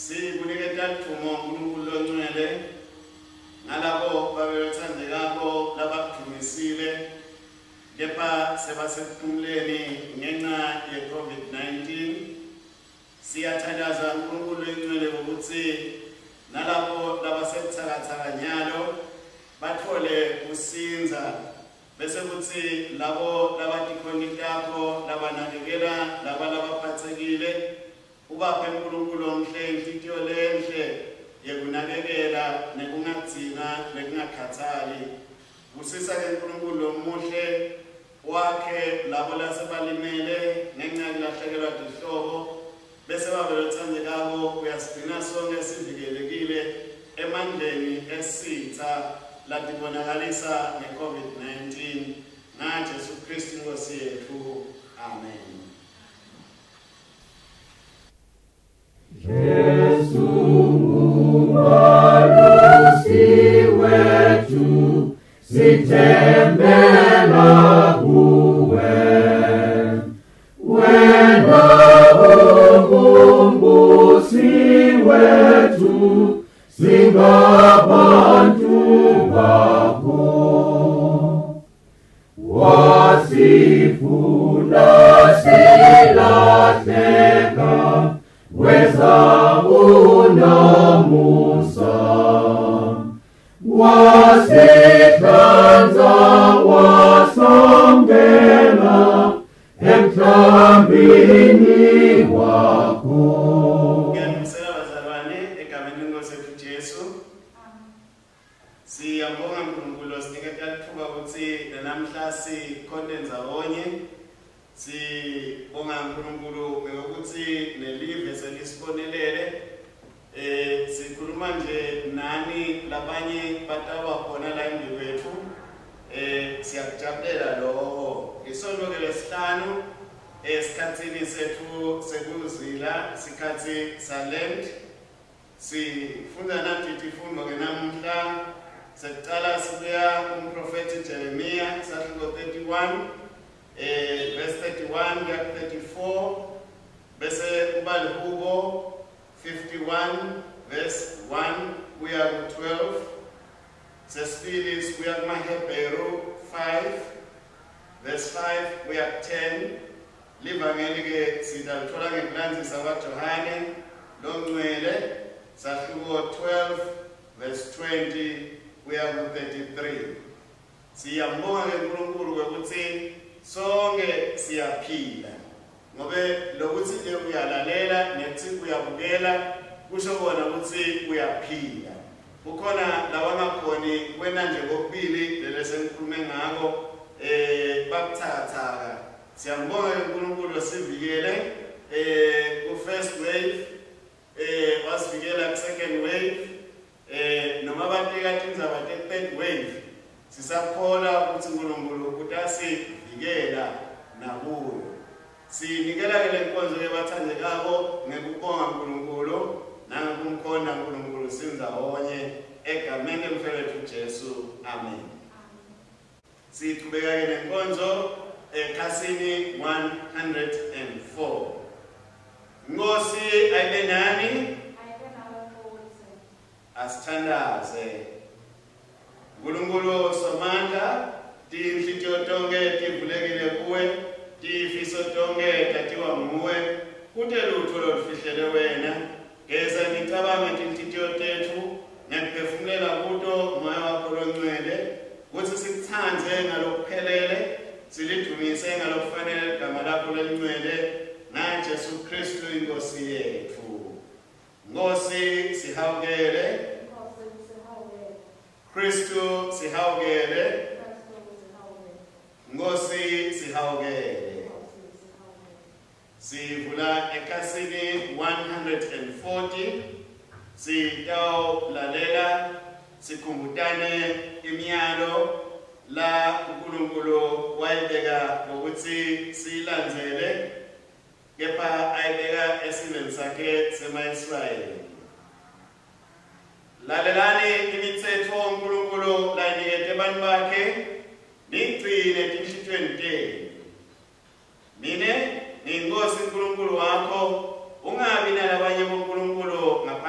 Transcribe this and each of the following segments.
Sikuniketa ludumo uNkulunkulu longcwele ngalabo babethandekako labakudumisile kepha sebasekuphumuleni ngenxa ye-COVID-19. Siyathandaza uNkulunkulu longcwele ukuthi nalabo labasebuthakathaka nyalo bathole kusinza, bese kuthi labo labatikhoni takho labanakekela laba labaphathekile ubaphe uNkulunkulu omhle inhlitiyo lenhle yekunakekela nekungagcina nekungakhathali. Busisa ke uNkulunkulu lomuhle wakhe labo lasebalimele ngenxa yokulahlekelwa tihlobo, bese babe lothandekako uyasigcina sonke sivikelekile emandleni esitha latibonakalisa nge-COVID-19 ngaJesu Kristu Inkosi yethu. Amen. Jesu umalusi wethu, sithembela kuwe. Wena ungumbusi wethu, singabantu bakho. Wasifuna silahleka, weza unomusa. Wasihlanza wasongela emhlambini wakho. Ngiyanisela bazalwane egameni lenkosi yethu Jesu. Siyabonga uNkulunkulu osiniketa lithuba ukuthi namhla sikhonte ndzawonye. Sibonga uNkulunkulu ngokuthi nelive selisibonelele. Sikhuluma nje nani labanye bataba khona la embi kwethu. Siyakujabulela lokho. Isonto ke lesihlanu esikhatsini sethu sekuzila, sikhathi salent. Sifunda nathi tifundo ke namuhla. Sekucala sibuya kumprofeti Jeremiah sahluko 31 verse 31 kuya 34, bese kuba lihubo 51 verse 1 kuya ku 12. Sesibili sibuya kumaHebheru 5 verse 5 kuya ku 10. Livangeli ke sidalithola ngekulandzisa kwaJohane longcwele sahluko 12 verse 20 kuya ku 33. Siyambonga ke uNkulunkulu ukuthi sonke siyaphila, ngobe lokuthi nje uyalalela nethi uyabukela kusho kona ukuthi uyaphila. Kukhona labangakhoni wena nje kokubili lele sengikhulume ngako bakuthakathaka. Siyambonga ke uNkulunkulu sivikele ku first wave, wasivikela ku second wave, noma batika tindzaba te third wave. Sisakholwa ukuthi uNkulunkulu utasivikela nakuyo. Sinikela ke lenkonzo ke bathandekako ngekubonga uNkulunkulu nangekumkhonda uNkulunkulu sindzawonye egameni lemfowethu Jesu. Amen. Sichubeka ke nenkonzo ekhasini 104. Nkosi ayibe nani? Asithandaze. Nkulunkulu Somandla, tinhlitiyo tonke tivulekile kuwe, tifiso tonke tatiwa nguwe, kute lutho lolufihlele wena. Geza imicabango yetinhlitiyo tetfu ngekuphefumulela kuto moya wakho longcwele, kutsi sikutsandze ngalokuphelele, silidumise ngalokufanele ligama lakho lelingcwele, ngaJesu Kristu iNkosi yetfu. Nkosi sihawukele. Kristu sihawukele. Nkosi sihawukele. Sivula ekhasini 140. Sitawulalela sikhumbutane imiyalo la uNkulunkulu wayibeka ngokuthi siyilandzele, kepha ayibeka esiveni sakhe sema-Israyeli. Lalelani imitsetfo uNkulunkulu layinikete bantfu bakhe, niyigcine etinhlitiyweni tenu. Mine ngiyiNkosi uNkulunkulu wakho, ungabi nalabanye bonkulunkulu ngaphandle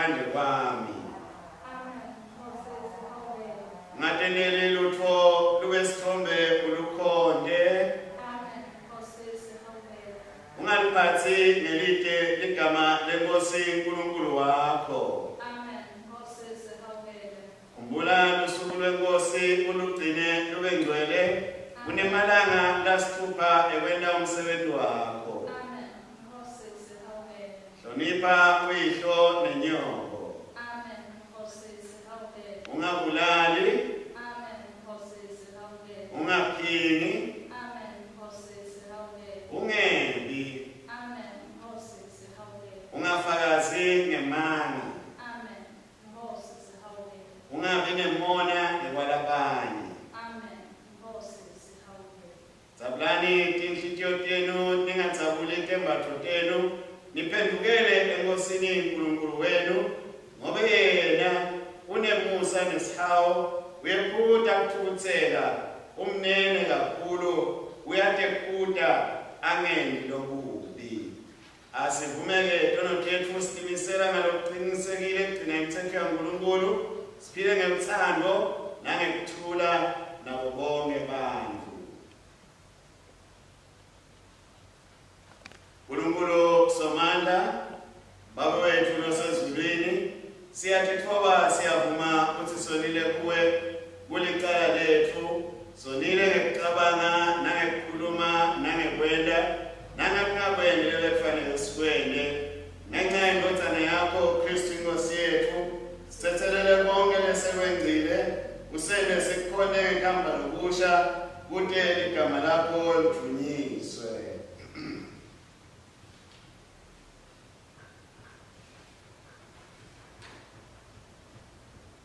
Ungalitsatsi ngelite ligama leNkosi uNkulunkulu wakho. Amen. Nkosi sihawukele. Khumbula lusuku lweNkosi ulugcine lube ngcwele. Kunemalanga lasitfupha ekwenta umsebenzi wakho. Amen. Nkosi sihawukele. Hlonipha uyihlo nenyoko. Amen. Nkosi sihawukele. Ungabulali, Amen. Nkosi sihawukele. ungaphingi, Amen. Nkosi sihawukele. ungebi, Amen. Nkosi sihawukele. ungafakazi ngemanga, Amen. Nkosi sihawukele. ungabi nemona ngekwalabanye. Amen. Nkosi sihawukele. Dzabulani tinhlitiyo tenu, ningadzabuli tembatfo tenu, niphendukele eNkosini uNkulunkulu wenu, ngobe yena unemusa nesihawu, uyephuta kutfukutsela, umnene kakhulu, uyatekhuta angendi lokubi. Asivumeke tono tetfu sitimisela ngalokuqinisekile kugcina imitsetfo yaNkulunkulu, siphile ngelutsandvo nangekuthula nabo bonke bantfu. Nkulunkulu Somandla, Baba wetfu losezulwini, siyatitfoba siyavuma kutsi sonile kuwe kulicala letfu, sonile ngekucabanga nangekukhuluma nangekwenta nangekungakwendi lebekufanele sikwente. Ngenxa yendvodzana yakho Kristu iNkosi yetfu, sitsetselele konke lesekwengcile, usente sikukhone ngekuhamba lokusha kute ligama lakho lidvunyiswe.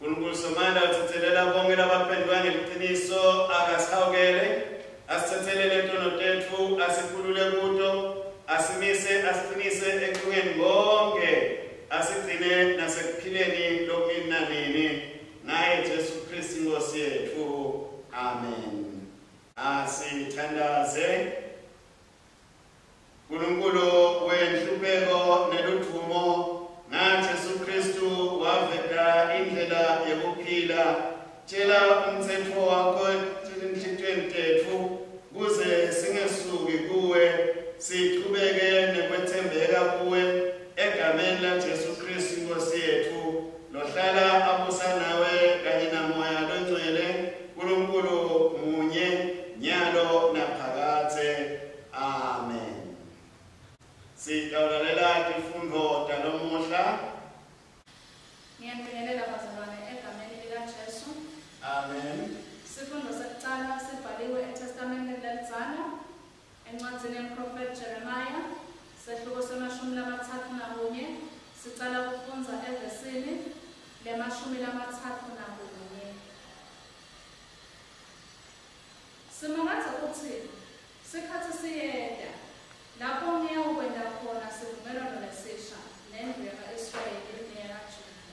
Nkulunkulu Somandla utsetselela bonke labaphenduka ngeliciniso, akasihawukele, asitsetselele tono tetfu, asikhulule kuto, asimise, asiqinise ekulungeni konke, asigcine nasekuphileni lokunini nanini. Ngaye Jesu Kristu iNkosi yetfu. Amen. Asithandaze. Nkulunkulu wenhlupheko neludvumo, ngaJesu Kristu waveta indlela yekuphila. Tshela umtsetfo wakho etinhlitiyweni tetfu kuze singesuki kuwe, sichubeke nekwetsembeka kuwe, egameni laJesu Kristu iNkosi yetfu, lohlala abusa nawe kanye naMoya loNgcwele, Nkulunkulu munye, nyalo naphakadze. Amen. Sitawulalela tifundvo talomuhla. Ngiyanibingelela bazalwane egameni likaJesu. Amen. Sifundo sekucala sibhaliwe eTestamenteni lelidzala, encwadzini yemprofethi Jeremiah, sehluko se-31, sicala kufundza evesini le-31. Simakadze utsi, Sikhatsi siyeta, lapho ngiyawukwenta khona sivumelwano lesisha nendlu yaka-Israyeli neyakaJuda.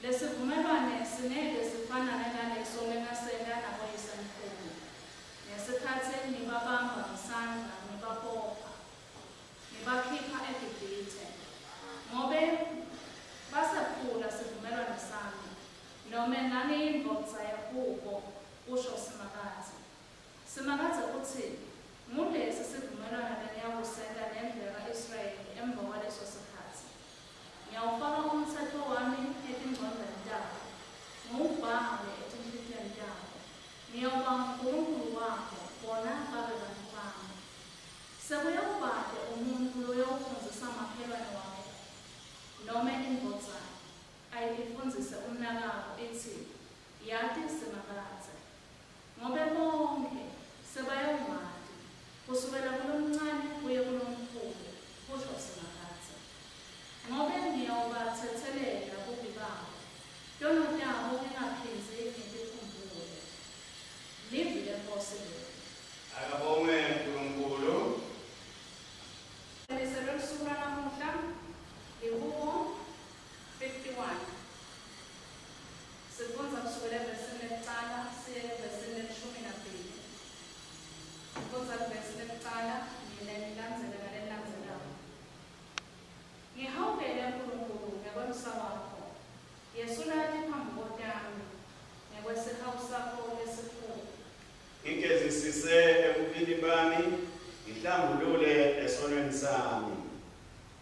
Lesivumelwane singeke sifanane naleso lengasenta naboyisemkhulu, ngesikhatsi ngibabamba ngesandla ngibabopha, ngibakhipha eGibhithe, ngobe basephula sivumelwane sami, nome ngangiyindvodza kubo, kusho Simakadze. Simakadze utsi, Ngulesi sivumelwane lengiyawusenta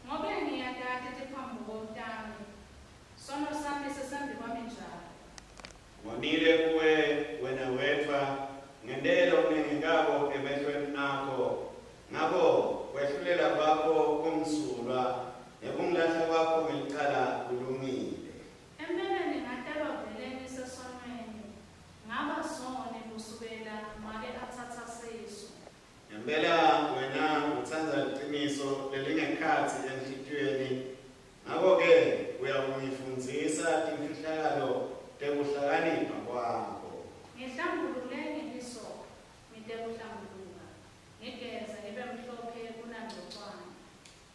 Ngobe ngiyatati tiphambuko tami, sono sami sisembi kwami njalo. Ngonile kuwe wena wedvwa, ngentele lokunengekako emehlweni akho. Ngako kwehlulela kwakho kumsulwa, nekungilahla kwakho ngelicala kulungile. Empeleni ngatalwa vele ngisesonweni, ngaba soni kusukela make atsatsa sisu. Ngempela wena utsandza liciniso lelingekhatsi enhlitiyweni, ngako-ke uyakungifundzisa timfihlakalo tekuhlakanipha kwakho. Ngihlambulule ngehisophi, ngitekuhlambuluka, ngigeze ngibe mhlophe kunangcocwane.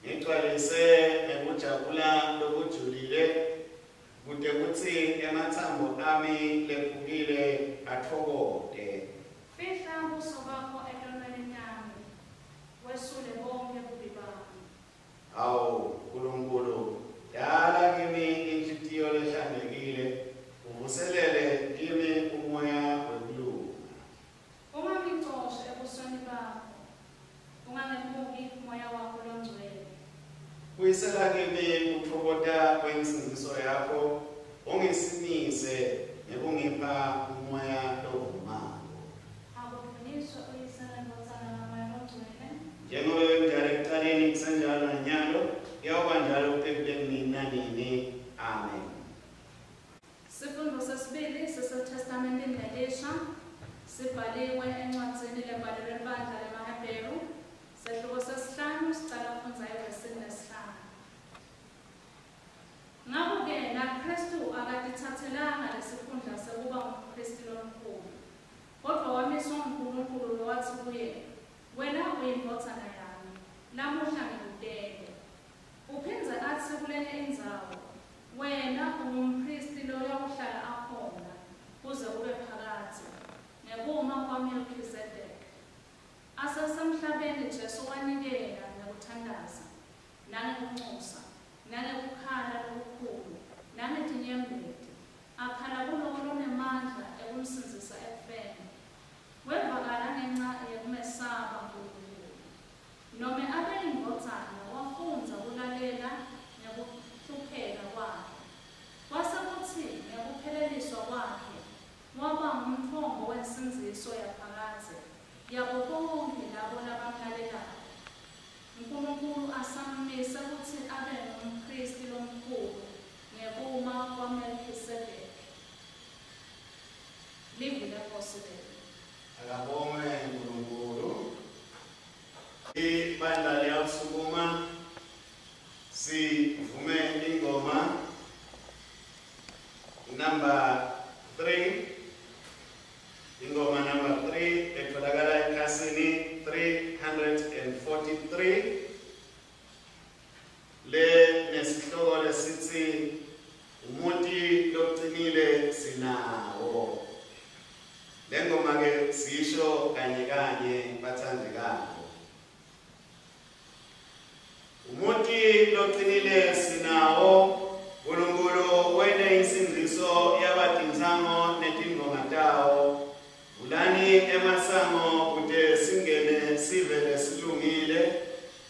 Ngigcwalise ngekujabula lokujulile, kute kutsi ematsambo ami lephukile atfokote. Fihla buso bakho etonweni tami, wesule bonkhe bubi bami. Awu Nkulunkulu, dala kimi inhlitiyo lehlantekile, uvuselele kimi umoya wekulunga. Ungangicoshi ebusweni bakho, ungangemuki umoya wakho longcwele. Buyisela kimi kutfokota kwensindziso yakho, ungisimise ngekungipha umoya lovumako. Akudvunyiswe uYise neNdvodzana naMoya Longcwele. Njengoba bekunjalo ekucaleni, kusenjalo nanyalo, kuyawuba njalo kute kube nini nanini. Amen. Sifundvo sesibili siseTestamenteni Lelisha, sibhaliwe encwadzini lebhalelwe libandla lemaHebheru, sehluko sesihlanu sicala kufundza evesini lesihlanu. Ngako-ke naKhristu akatitsatselanga lesikhundla sekuba ngumphristi lomkhulu, kodvwa wamiswa nguNkulunkulu lowatsi kuye, Wena uyiNdvodzana yami, lamuhla ngikutele. Uphindze atsi kulenye indzawo, Wena ungumphristi loyawuhlala akhona kuze kube phakadze, ngekuma kwaMelkhisedeki. Asesemhlabeni Jesu wanikela ngekuthandaza, nangekuncusa, nangekukhala lokukhulu, nangetinyembeti, akhala kulowo lonemandla ekumsindzisa ekufeni. Wevakala ngenca yekumesaba Nkulunkulu. Nome abeyiNdvodzana, wafundza kulalela ngekuhlupheka kwakhe. Kwase kutsi ngekupheleliswa kwakhe waba ngumtfombo wensindziso yaphakadze yabo bonkhe labo labamlalelako, Nkulunkulu asammise kutsi abe ngumPhristi Lomkhulu ngekuma kwaMelkhisedeki. Livi leNkhosi leli. Akabongwe Nkulunkulu. Ibandla liyawusukuma sivume ingoma number 3. Ingoma number 3 etholakala ekhasini 343 le nesihloko lesitsi umuti locinile sinawo. Le ngoma ke sisho kanye kanye bathandekako. Umuti locinile sinawo, Nkulunkulu wente insindziso yabatintsango netindvonga tawo. Vulani emasango kute singene sive lesilungile,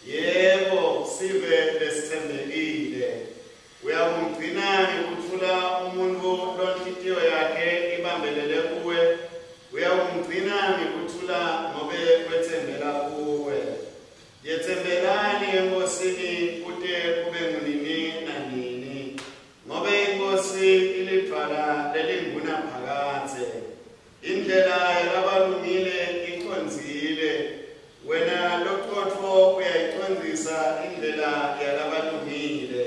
yebo, sive lesitsembekile. Uyakumgcina ngekuthula umuntfu lonhlitiyo yakhe ibambelele kuwe, uyakumgcina ngekuthula ngobe wetsembela kuwe. Yetsembelani eNkosini kute kube ngunini nanini, ngobe iNkhosi ilidvwala lelingunaphakadze. Indlela yalabalungile icondzile, wena loqotfo uyayicondzisa indlela yalabalungile.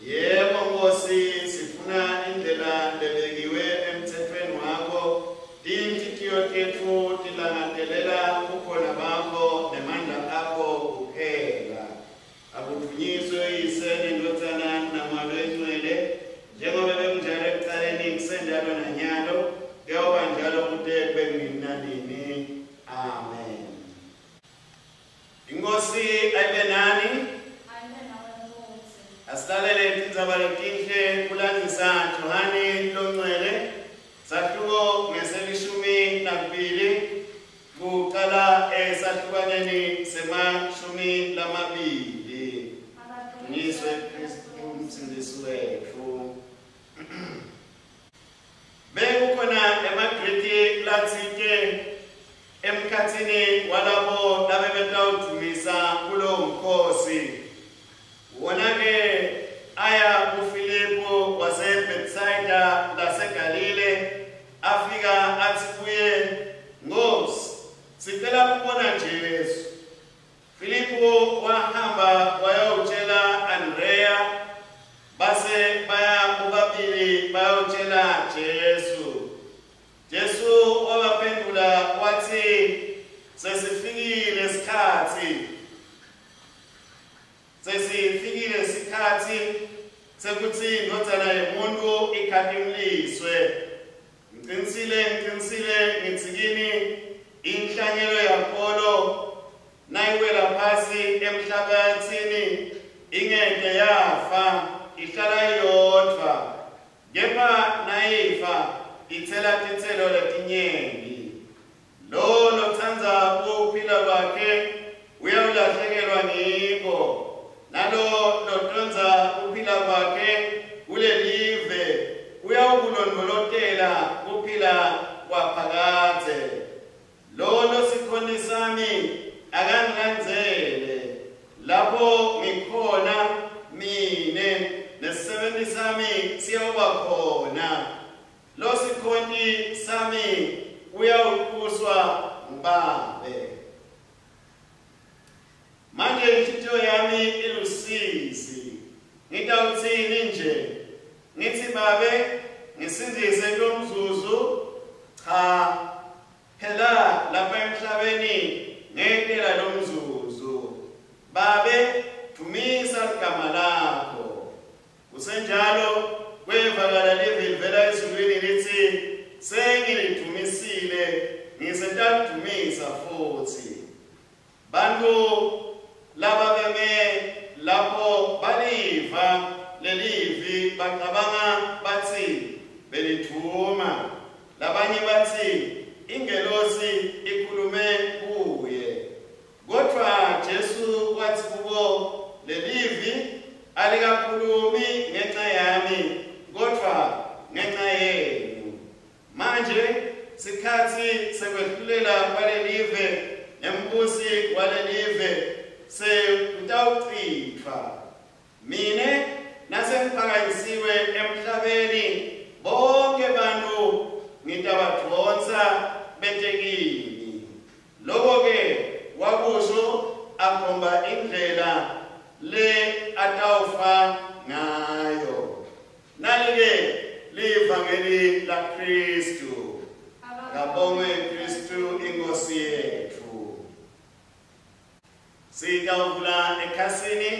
Yebo Nkhosi, sifuna indlela lebekiwe emtsetfweni wakho, tinhlitiyo tetfu tilangatelela bukhona bakho nemandla akho kuphela. Akudvunyiswe Uyise neNdvodzana naMoya Loyingcwele, njengoba bekunjalo ekucaleni, kusenjalo nanyalo, kuyawuba njalo kute kube nini nanini. Amen. Inkosi ayibe nani. Ayibe nawe futsi. Asilalele tindzaba letinhle kulandzisa Johane Longcwele, sahluko ngeselishumi nakubili, kucala esahlukaneni semashumi lamabili. emkhatsini walabo labebetawudvumisa kulowo mkhosi. Wona-ke aya kuFilipu waseBethsaida laseGalile, afika athi kuye, "Nkosi, sicela kubona Jesu." Filipu wahamba wayawutshela Andreya, base baya bobabili bayawutshela Jesu. Jesu wabaphendula wathi, "Sesifikile isikhathi, sesifikile isikhathi sekuthi iNdvodzana yeMuntfu ikhatimliswe. Ngiqinisile, ngiqinisile ngithi kini, inhlanyelo yakholo nayiwela phasi emhlabathini ingeke yafa, ihlala iyodvwa, kepha nayifa ithela titselo letinyenti. Lo lotsandza kuphila kwakhe uyawulahlekelwa ngiko, nalo lotondza kuphila kwakhe kulelive uyawukulondvolotela kuphila kwaphakadze. Lo losikhoni sami akangilandzele, lapho ngikhona mine nesisebenti sami siyawuba khona. Losikhoni sami uyawutuswa nguBabe. Manje inhlitiyo yami ilusizi, ngitawutsini nje? Ngithi, Babe, ngisindzise kulomzuzu? Cha, phela lapha emhlabeni ngetela lomzuzu. Babe, dvumisa ligama lakho." Kusenjalo kwevakala livi livela ezulwini lithi, "Sengilidvumisile, ngisetalidvumisa futhi." Bantu lababeme lapho baliva lelivi bacabanga bathi belidvuma. Labanye bathi, "Ingelosi ikhulume kuye." Kodvwa Jesu wathi kubo, "Lelivi alikakhulumi ngenxa yami, kodvwa ngenxa yenu. Manje sikhatsi sekwehlulela kwalelive, nembusi walelive sekutawucitfwa. Mine nasengiphakanyisiwe emhlabeni, bonke bantfu ngitabadvonsa bete kimi." Loko-ke wakusho akhomba indlela le atawufa ngayo. Nali-ke livangeli laKhristu. Kabongwe Khristu iNkosi yetfu. Sitawuvula ekhasini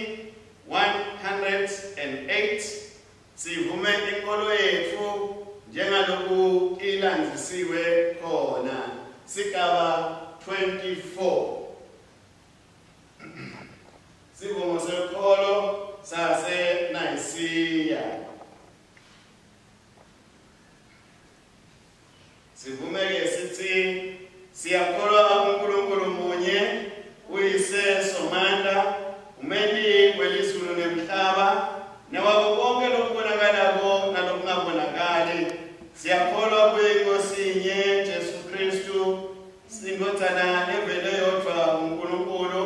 108, sivume inkolo yetfu njengaloku ilandzisiwe khona, sigaba 24. Sivumo sekholo sase Nayisiya. Sivumeke sithi, siyakholwa kuNkulunkulu munye, uyise Somandla, umenti welizulu nemhlaba, newako konke lokubonakalako nalokungabonakali. Siyakholwa kuye iNkosi inye, Jesu Kristu, iNdvodzana levele yodvwa kuNkulunkulu,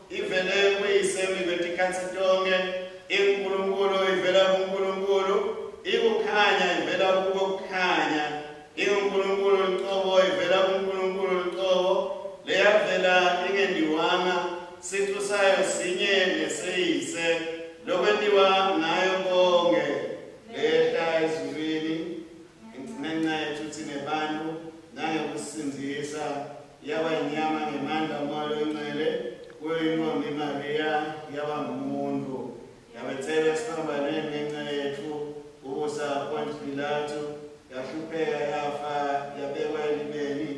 ivele kuyise mikwetikhatsi tonkhe, iNkulunkulu ivela kuNkulunkulu, ikukhanya ivela kuko kukhanya, inguNkulunkulu lucobo ivela kuNkulunkulu lucobo, leyavela ingendiwanga, sicu sayo sinye neseyise, lokwentiwa ngayo konke, lehla ezulwini ngenxa yethu thine bantfu nangekusindzisa, yaba inyama ngemandla oMoya Longcwele, kuyo intombi Mariya, yaba ngumuntu, yabethelwa esiphambanweni ngenxa yetfu, kubusa Pontius Pilatu, yahlupheka, yafa, yabekwa elibeni.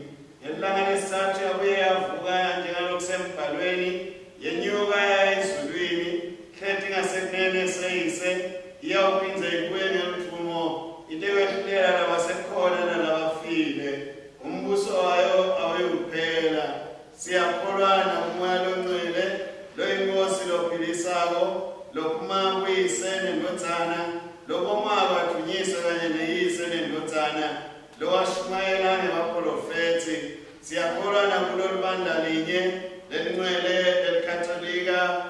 Ngelilanga lesitsatfu yabuye yavuka njengalokusembhalweni, yenyuka yaya ezulwini, hleti ngasekunene seyise, iyawuphindze ibuye ngeludvumo itekwehlulela labasekhona nalabafile. Umbuso wayo awuyukuphela. Siyakholwa nakuMoya Longcwele, loyinkosi lophilisako, lophuma kuyise nendvodzana, lobongwako advunyiswe kanye neyise nendvodzana, lowashumayela ngebaprofethi. Siyakholwa nakulolu bandla linye lelingcwele elikatolika.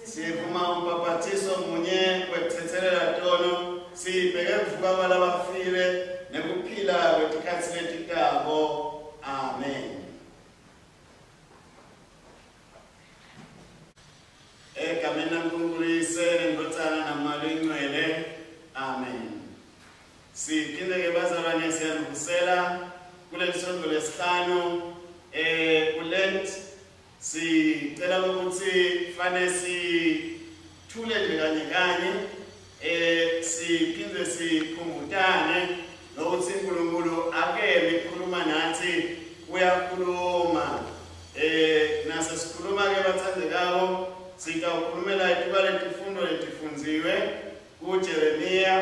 Sivuma umbhaphathiso munye wekuthethelela tono, sibheke kuvuka kwalabafile nekuphila kwetikhatsi letitako. Amen. Egameni laNkulunkulu Uyise neNdvodzana naMoya Loyingcwele. Amen. Siphinde-ke bazalwane siyanivusela kuleli sonto lesihlanu kuLent. Sicela ukuthi fane sithule nje kanye kanye, siphinde sikhumbutane nokuthi uNkulunkulu akemi ukukhuluma nathi, uyakhuluma. Nase sikhuluma-ke bathandekako, sitawukhulumela ituba letifundo letifundziwe kuJeremiya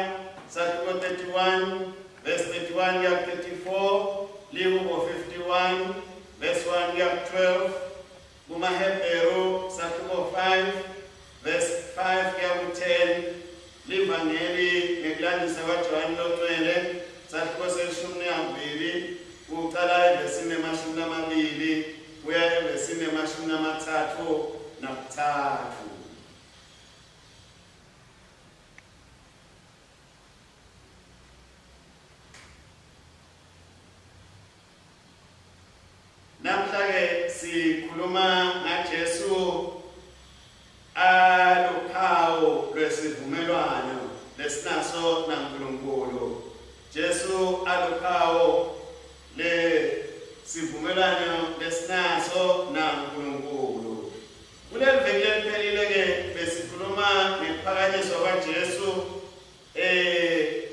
sahluko 31 verse 31 kuya 34, Lihubo 51 verse 1 kuya 12, kumaHebheru sahluko 5 verse 5 kuya ku-10, livangeli ngekulandisa kwaJohane Longcwele sahluko seshumi nambili kucala evesini 20 kuya evesini 33. Namhla-ke sikhuluma ngaJesu aluphawu lwesivumelwano lesinaso naNkulunkulu. Jesu aluphawu lesivumelwano lesinaso naNkulunkulu. Kuleli veki leliphelile-ke besikhuluma ngekuphakanyiswa kwaJesu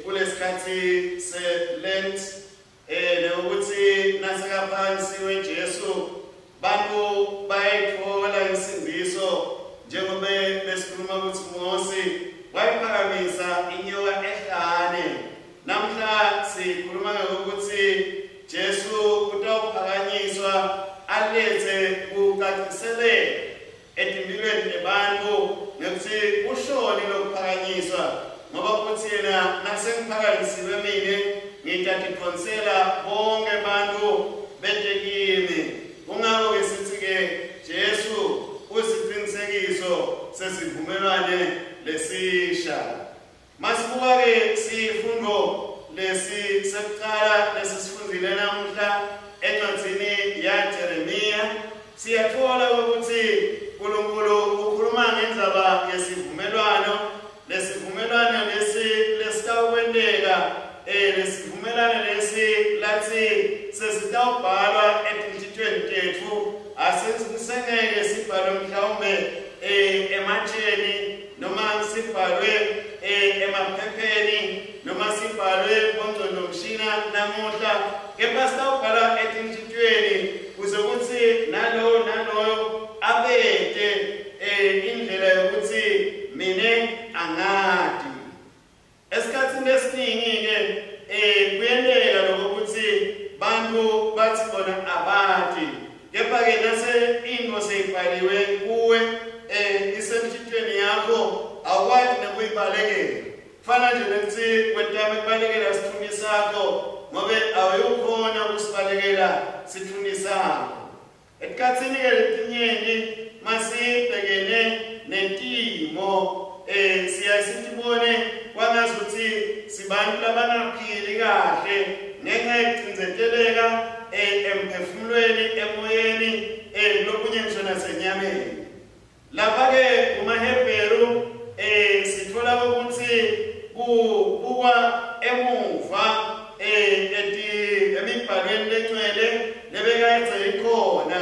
kulesikhathi se-Lent, nokuthi nasekaphakanyisiwe Jesu bantu bayayithola insindiso, njengoba besikhuluma ukuthi Mose wayiphakamisa inyoka ehlane. Namhla sikhuluma ngokuthi Jesu utawuphakanyiswa alethe kucaciseleka etimpilweni tebantu ngekuthi kushoni lokuphakanyiswa, ngoba kuthi yena nasengiphakanyisiwe mine ngitatiphonsela bonke bantu bete kimi. Kungako-ke sithi-ke Jesu usiqinisekiso sesivumelwane lesisha. Masibuka-ke sifundo lesi sekucala lesisifundile namuhla encwadzini yaJeremiya, siyatfola ukuthi uNkulunkulu ukhuluma ngendzaba yesivumelwano. Lesivumelwano lesi lesitawukwenteka, lesivumelwano lesi lathi sesitawubhalwa etinhlitiyweni tetfu, asisengeke sibhalwe mhlawumbe ematsheni noma sibhalwe emaphepheni noma sibhalwe kongcondvomshina namuhla, kepha sitawubhalwa etinhlitiyweni kuze kutsi nalowo naloyo abete indlela yokuthi mine angati. Esikhatsini esiningi-ke kuyenteka lokho ukuthi bantu bathi bona abati, kepha-ke nase into seyibhaliwe kuwe isemthithweni yakho, awukwati nekuyibalekela. Kufana nje nekuthi wetame kubalekela sithunzi sakho, ngobe awuyukhona ukusibalekela sithunzi sakho. Etikhatsini-ke letinyenti masibhekene netimo siyaye sitibone kwangazuthi sibantu labangaphili kahle ngenxa yekucindzeteleka emphefumulweni, emoyeni, lokunye ngisho nasenyameni. Lapha-ke kumaHebheru sitfola ukuthi kubukwa emuva emibhalweni lengcwele lebekayethe ikhona,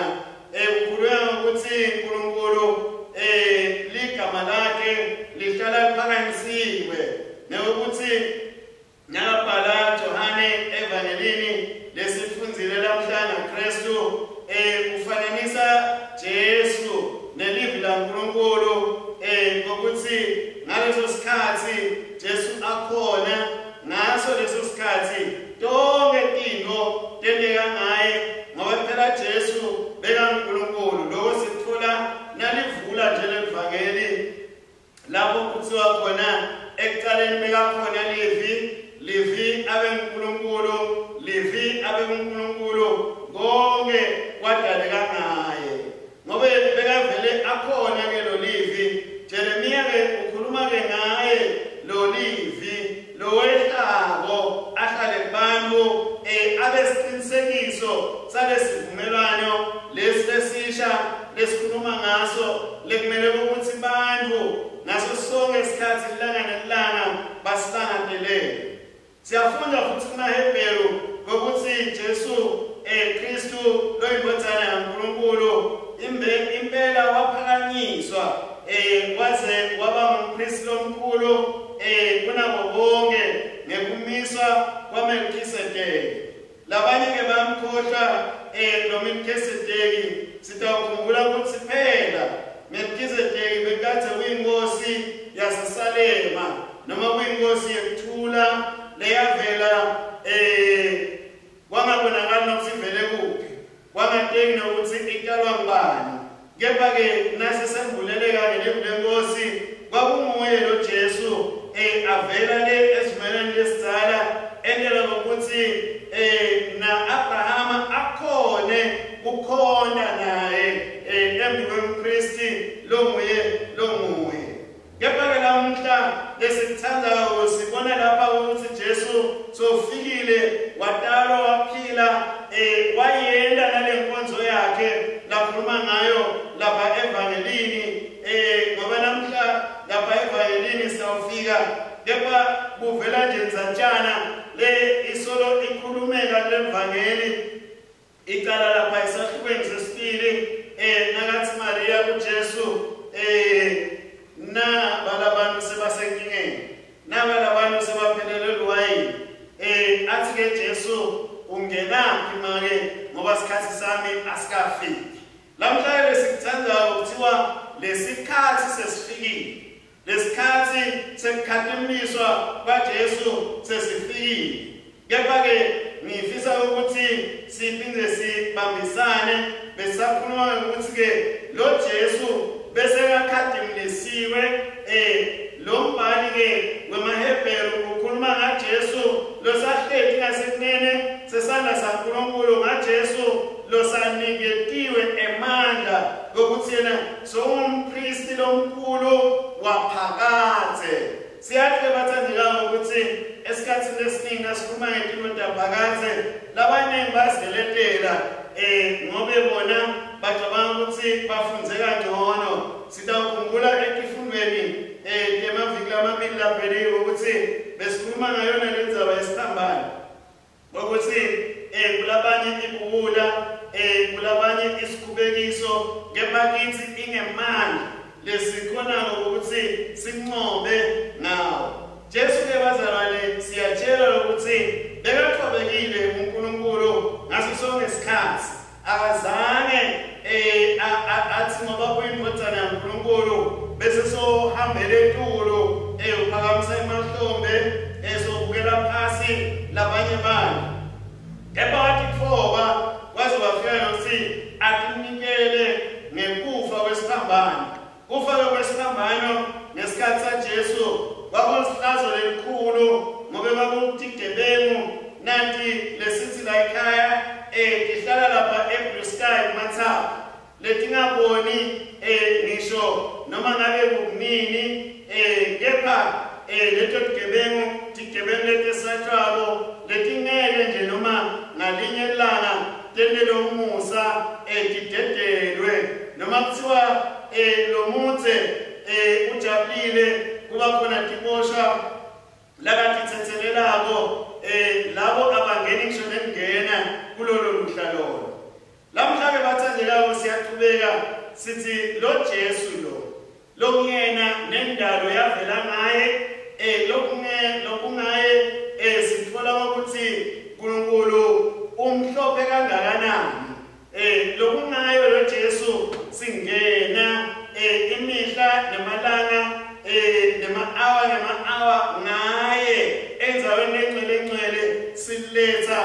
kukhulunywa ngokuthi uNkulunkulu ligama lakhe lihlala liphakanyisiwe, nekuthi nakabhala Johane evangelini lesifundzile lamhla ngaKristu, ufananisa Jesu nelivi laNkulunkulu, ngokuthi ngaleso sikhathi Jesu akhona, ngaso leso sikhathi tonke tintfo tenteka ngaye, ngoba phela Jesu bekaNkulunkulu. Lokho sikutfola nalivula nje levangeli lapho kuthiwa khona ekucaleni bekakhona livi, livi abe nguNkulunkulu, livi abe nguNkulunkulu. lekumele ukuthi bantu ngaso sonke isikhathi ilanga nelanga basilangadelele. Siyafunda futhi kumaHebheru ukuthi Jesu Kristu loyindvodzana yaNkulunkulu impela waphakanyiswa waze waba ngumpristi lomkhulu kunabo bonke ngekumiswa kwaMelkisedeki. Labanye ke bamkhohlwa lo Melkisedeki. Sitawukhumbula ukuthi phela Melkisedeki bekade kuyinkosi yaseSalema noma kuyinkosi yekuthula leyavela kwangabonakali nokuthi ivele kuphi, kwangateki nokuthi italwa ngubani. Kepha-ke nasesembuleleka ngelivu lenkosi kwakunguye lo Jesu avela le esivumelwaneni lesidzala endlela ngokuthi na Abrahama akhone kukhonta naye embi kwempristi longuye. Kepha-ke lamuhla lesithandayo sibona lapha ukuthi Jesu sofikile watalwa waphila wayenda nale nkonzo yakhe lakhuluma ngayo lapha evangelini ngoba namhla lapha evangelini sawufika kepha kuvela nje nzantshana le isolo ikhulumeka levangeli icala lapha esahlukweni sesibili nakathi Maria kuJesu na balabantu sebasenkingeni na balabantu sebaphelelwe liwayini athi ke Jesu ungenaphi make ngoba isikhathi sami asikafiki. Lamhla lesikuthandayo kuthiwa lesikhathi sesifikile, lesikhathi sekukhatimiswa kwaJesu sesifikile. Kepha-ke ngifisa ukuthi siphinde sibambisane besakhuluma ukuthi-ke lo Jesu bese kakhadimlisiwe lo mbhali-ke wemaHebheru ukhuluma ngaJesu losahleti ngasekunene sesandla saNkulunkulu, ngaJesu losaniketiwe emandla kokuthi yena sowumpristi lomkhulu waphakadze. Siyathi bathandekayo ukuthi esikhathini esiningi nasikhuluma ngetinto taphakadze labaningi bazideletela ngobe bona bacabanga ukuthi bafunze kangcono. Sitawukhumbula etifundweni emaviki lamabili laphelile ukuthi besikhuluma ngayona le ndzaba yesiphambano ukuthi kulabanye ibuwula kulabanye isikhubekiso kepha kithi ingemandla lesikhonako ukuthi sinqobe ngawo. Jesu ke bazalwane siyatshela ukuthi bekathobekile uNkulunkulu ngaso sonke isikhathi. Akazange athi ngoba uyindvodzana yaNkulunkulu bese sohambele etulu uphakamisa emahlombe esobukela phasi labanye bantu. Kepha watitfoba waze wafika nokuthi atinikele ngekufa kwesiphambano. Kufa kwesiphambano ngesikhathi saJesu kwakulihlazo lelikhulu ngoba kwakutigebengu nanti lesithi la ekhaya tihlala lapha eBlue Sky kumathapha letingaboni ngisho noma ngabe kunini kepha leto tigebengu letesatshwako letingeke nje noma ngalinye ilanga tentele umusa tidedelwe noma kuthiwa lo mutse ujabulile kuba khona tiboshwa lakatithethelelako labo abangeni ngisho nekungena kulolo luhla lolo. Lamhla ke bathandekayo siyaqhubeka sithi lo Jesu lo lokungena nendalo yavela ngaye lokungaye sithola ukuthi uNkulunkulu umhlophe kangakanani lokungayo lo Jesu singena imihla namalanga nema-hour nema-hour ngaye endzaweni lengcwele ngcwele siletha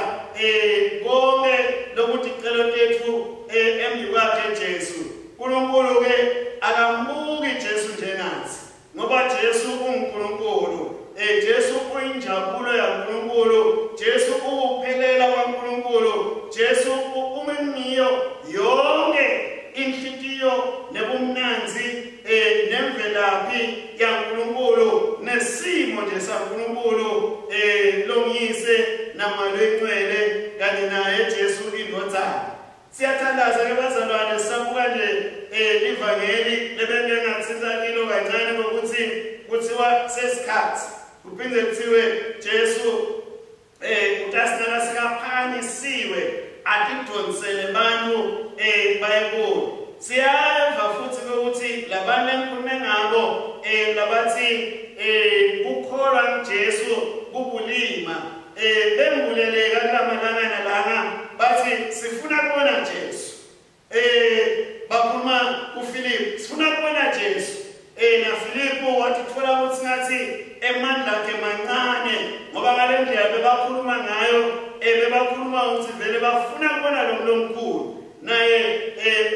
konke lokuthi icelo tethu embi kwakhe Jesu. uNkulunkulu ke akambuki Jesu njengathi ngoba Jesu unguNkulunkulu. Jesu uyinjabulo yaNkulunkulu, Jesu uwuphelela kwaNkulunkulu, Jesu umemiyo yonke inhlitiyo nebumnanzi nemvelaphi yaNkulunkulu nesimo nje saNkulunkulu longiyise namalwencwele kanye naye Jesu indvodzana. Siyathandaza ke bazalwane, sisabuka nje ivangeli lebengeke ngathinta kilo kancane ngokuthi kuthiwa sesikhathi kuphinde kuthiwe Jesu utasinaka sikaphakanyisiwe atidonsele bantu bayekuye. Siyeva futhi ukuthi labantu engikhulume ngabo labathi kukholwa kuJesu kubulima bembuleleka kulamalangana lana bathi sifuna kubona Jesu. Bakhuluma kuFilip, sifuna kubona Jesu. Na Filipo wathithola ukuthi ngathi emandla akhe mancane ngoba ngale ndlela bebakhuluma ngayo bebakhuluma ukuthi vele bafuna kubona lo mkhulu. Naye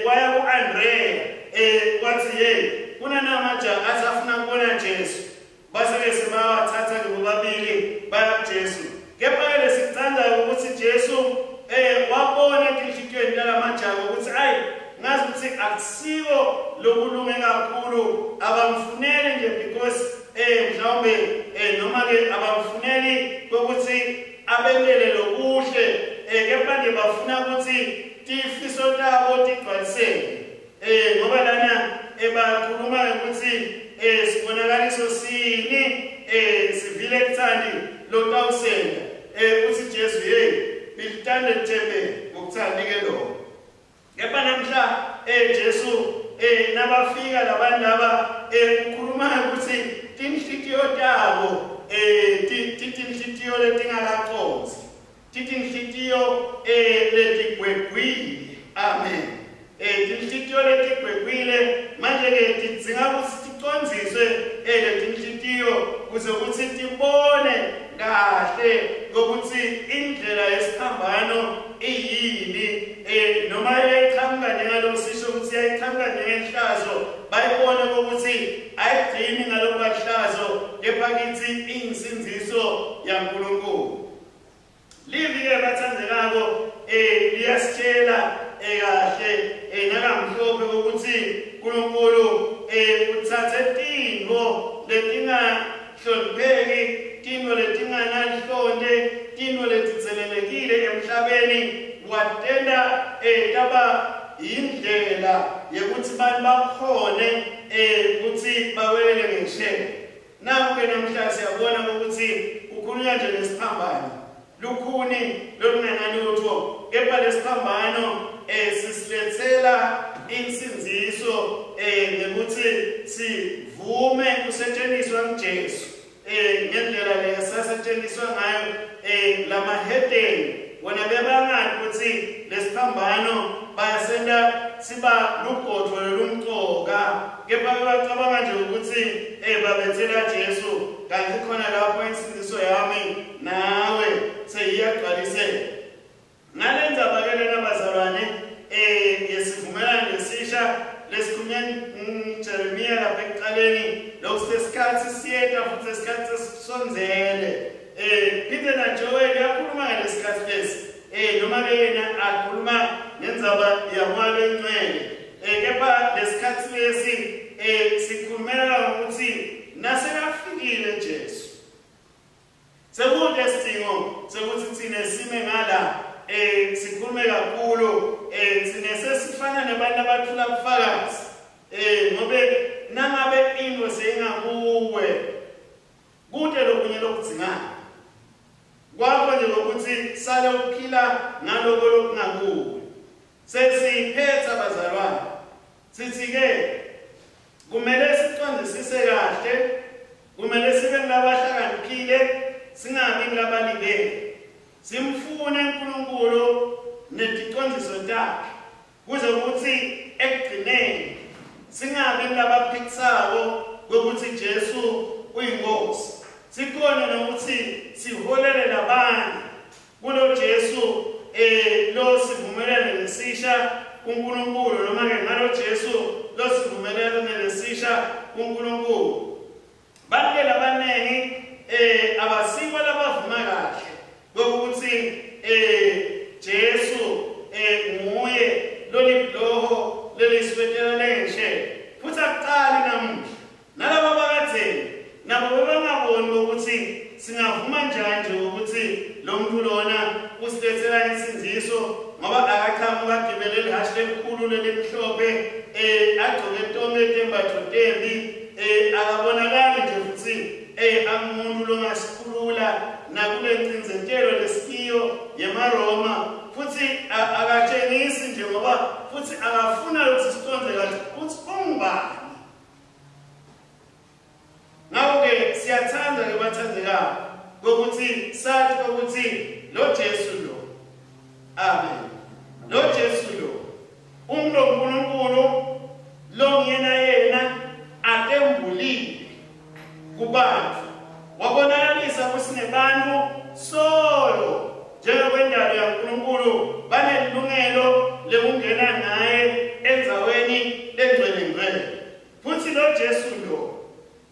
waya ku-Andrea wathi hey kunanamaja athi afuna kubona Jesu. Base-ke sebawathatha-ke bobabili baya kuJesu. Kepha-ke lesikuthandayo ukuthi Jesu wabona etinhlitiyweni talamajaha ukuthi ayi ngazi ukuthi akusiko lokulunge kakhulu, abamfuneli nje because mhlawumbe noma-ke abamfuneli kokuthi abentele lokuhle, kepha nje bafuna ukuthi tifiso tabo tigcwaliseke. Ngoba lana bakhuluma ukuthi sibonakaliso sini sivile kuthandi lotawusenda uthi Jesu hey bilithande lithembe ngokuthandi ke lo. Kepha namhla Jesu nabafika labantu laba ukhuluma ukuthi tinhlitiyo tabo tinhlitiyo letingakaqondzi, tinhlitiyo letigwegwile. Amen. Tinhlitiyo letigwegwile manje ke tidzinga ukuthi ticondziswe letinhlitiyo kuze ukuthi tibone kahle ukuthi indlela yesiphambano iyini, noma iyayiqhamuka njengaloko sisho ukuthi iyayiqhamuka njengenhlazo, bayibone ukuthi ayigcini ngaloko bahlazo kepha kithi iyinsindziso yaNkulunkulu. Livi-ke bathandekako liyasitshela kahle nakamhlophe ukuthi uNkulunkulu uthathe tintfo letingahlonipheki, tintfo letinganalihlonte, tintfo letitselelekile emhlabeni, watenta taba indlela yekuthi bantu bakhone ukuthi bawelele ngesheya. Naku-ke namhla siyabona ukuthi kukhulunywa nje nesiphambano, lukhuni lolungenalutho, kepha lesiphambano sisilethela insindziso ngekuthi sivume kusetshenziswa nguJesu ngendlela lesasetshenziswa ngayo lamahedeni. Wona bebangathi ukuthi lesiphambano bayasenta siba lugodvo lolumcoka, kepha bebacabanga nje ukuthi babethela Jesu kanti khona lapho insindiso yami nawe seyiyagcwaliseka. Ngale ndzaba ke lena bazalwane yesivumelwano lesisha lesikhulunywa Jeremiya lapha ekuqaleni, lokhu sesikhathi siyeta futhi sesikhathi sesisondzele. Phinde na Joel uyakhuluma ngalesikhathi lesi, noma ke yena akhuluma ngendzaba yaMoya Longcwele, kepha lesikhathi lesi sikhulumela ukuthi nasekafikile Jesu sekude isidingo sekuthi thine sime ngala sikhulume kakhulu, thine sesifana nabantu abathula ubufakazi, ngobe nangabe into seyingakuwe kude lokunye lokudzingayo kwakho nje ngokuthi sale uphila ngaloko lokungakuwe. Sesiphetha bazalwane, sithi ke kumele sicondzisise kahle, kumele sibe ngulabahlakaniphile, singabi ngulabalibele, simfune uNkulunkulu neticondziso takhe kuze ukuthi ekugcineni singabi ngulabaphikisako kokuthi Jesu uyinkosi. Sikhona nokuthi siholele labanye kulo Jesu lo sivumelane lesisha kuNkulunkulu, noma ke ngalo Jesu lo sivumelane lesisha kuNkulunkulu. Bantu labanengi abasibo labavuma kahle kokuthi Jesu nguye lolibloho leliswetela lenje, futhi akuqali namuhla. Nalabo bakadzeni nabo bebangaboni ukuthi singavuma njani nje ukuthi lo muntu lona usilethela insindziso, ngoba akaqhamuka agibele tembi akabonakali nje futhi angumuntu longasikhulula nakule ncindzetelo lesikiyo yemaRoma futhi akatshengisi nje ngoba futhi akafuna ukuthi siconze kahle ukuthi ungubani. Ngakho-ke siyathanda-ke bathandekayo kokuthi sathi kokuthi lo Jesu lo, amen, lo Jesu lo umlo uNkulunkulu lo nguyena yena atembulile kubantu wabonakalisa ukuthi nebantu solo njengokwendalo yaNkulunkulu banelungelo lekungena naye endzaweni lengcwele ngcwele. Futhi lo Jesu lo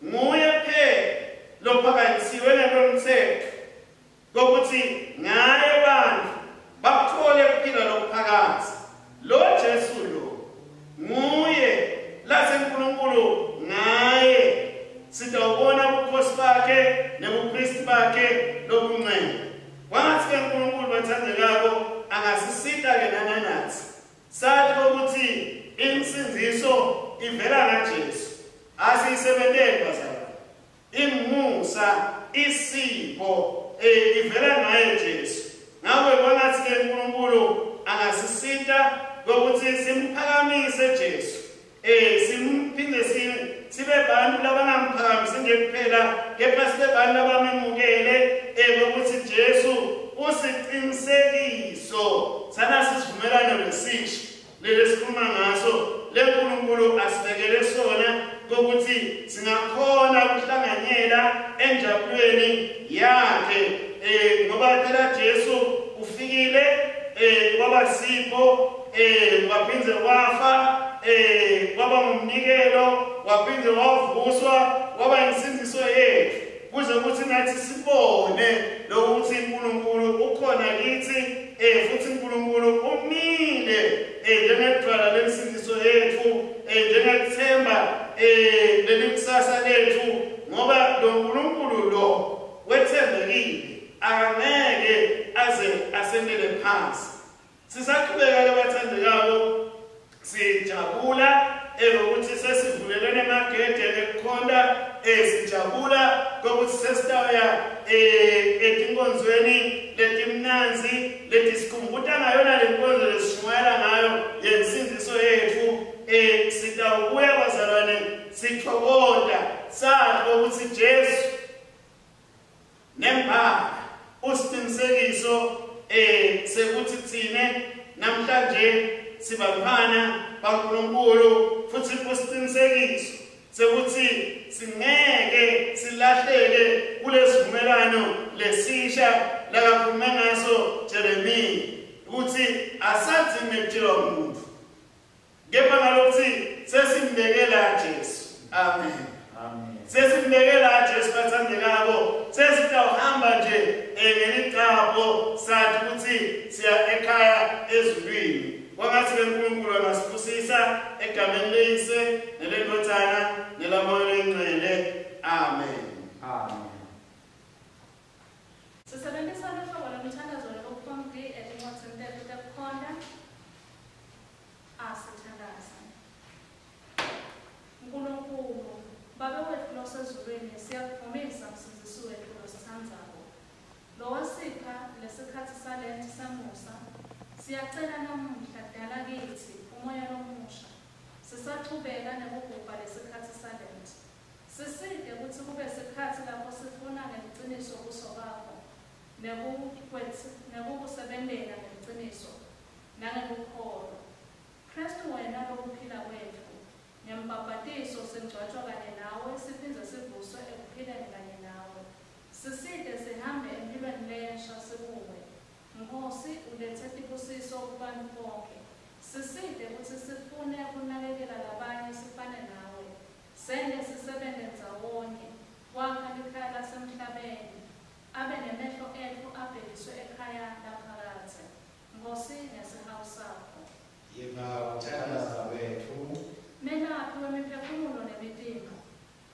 nguye phela lophakanyisiwe ngalomthetho kokuthi ngaye bantu bakuthole ukuphila lokuphakathi. Lo Jesu lo nguye laseNkulunkulu ngaye sitawubona ubukhosi bakhe nebupristi bakhe lobungcwele. Kwangathi ke uNkulunkulu bathandekako angasisita ke nanathi sathi ukuthi insindiso ivela ngaJesu. Asiyisebenteli bazalwane, imusa isipho ivela ngaye Jesu. Ngakho kwangathi ke uNkulunkulu angasisita ngokuthi simphakamise Jesu, simphinde sibe bantu labangamphakamisi nje kuphela kepha sibe bantu labamemukele ngokuthi Jesu usiqinisekiso sana sisivumelano lesisha lelesikhuluma ngaso leNkulunkulu asibekele sona kokuthi singakhona ukuhlanganyela enjabulweni yakhe ngoba phela Jesu ufikile kwaba sipho waphinde wafa kwaba ngumnikelo waphinde wavuswa waba insindiso yethu kuze ukuthi nathi sibone lokuthi uNkulunkulu ukhona kithi futhi uNkulunkulu umile njengedwala lensindiso yethu njengethemba lelikusasa lethu ngoba lo nkulunkulu lo wethembekile akangeke aze asendele phansi. Sisaqhubeka ke bathandekako sijabula elokuthi sesivulelene emagede ekukhonta sijabula kokuthi sesitawuya etinkonzweni letimnanzi letisikhumbuta ngayona le nkonzo lesishumayela ngayo yensindiso yethu. Sitawubuya bazalwane sithokoda sazi ukuthi Jesu nembala usiqinisekiso sekuthi thine namhlanje sibantwana baNkulunkulu futhi usiqinisekiso sekuthi singeke silahleke kulesivumelano lesisha lakakhulume ngaso Jeremiya ukuthi asathi ngekutshelwa umuntu kepha ngalokuthi sesimbekela Jesu. Amen. Amen. Sesimbekela Jesu bathandekako sesitawuhamba nje ngelicapho sathi ukuthi siya ekhaya ezulwini. Kwangathi uNkulunkulu angasibusisa egameni leyise nelendodana nelamoya oyingcwele. Amen. Amen. Sisebenzisa luhlobo lwemithandazo lokuphompi etincwadzini tetfu tekukhonta. Asithandaze. Nkulunkulu, Babe wetfu losezulwini, siyakuvumisa Msindzisi wetfu lositsandzako. Lowasipha lesikhatsi salenti samusa, siyacela namuhla dala kitsi umoya lomusha. Sisachubeka nekugubha lesikhatsi salenti. Sisite kutsi kube sikhatsi lapho sifuna ngeliciniso buso bakho nekukusebentela ngeliciniso nangekukholwa. Kristu wena lokuphila kwetfu, ngembhabhatiso singcwatshwa kanye nawe siphindze sivuswe ekuphileni kanye nawe. Sisite sihambe emphilweni lensha sikuwe. Nkosi ulethe tibusiso kubantu bonke. Sisite kutsi sifune kunakekela labanye sifane nawe. Sente sisebente ndzawonye kwakha likhaya lasemhlabeni. Abe nemehlo etfu abhekiswe ekhaya laphakadze. Nkosi ngesihawu sakho. Yiva kuthandaza kwetfu. Melaphi wemiphefumulo nemitimba,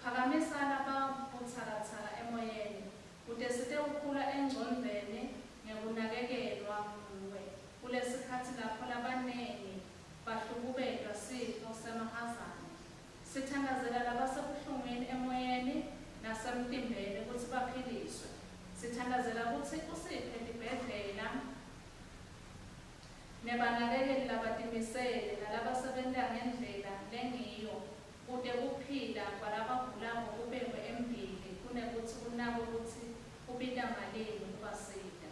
phakamisa lababutsakatsaka emoyeni, kute sitewukhula engcondvweni ngekunakekelwa nguwe. Kulesikhatsi lapho labanengi bahlukubetwa sifo semahazane. Sithandazela Sithandazela labasebuhlungwini emoyeni nasemtimbeni kutsi baphiliswe. Sithandazela kutsi usiphe tibhedlela nebanakekeli labatimisele nalabasebenta ngendlela lengiyo kute kuphila kwalabagulako kubekwe embili kunekutsi kunakwe kutsi kubita malini kubasita.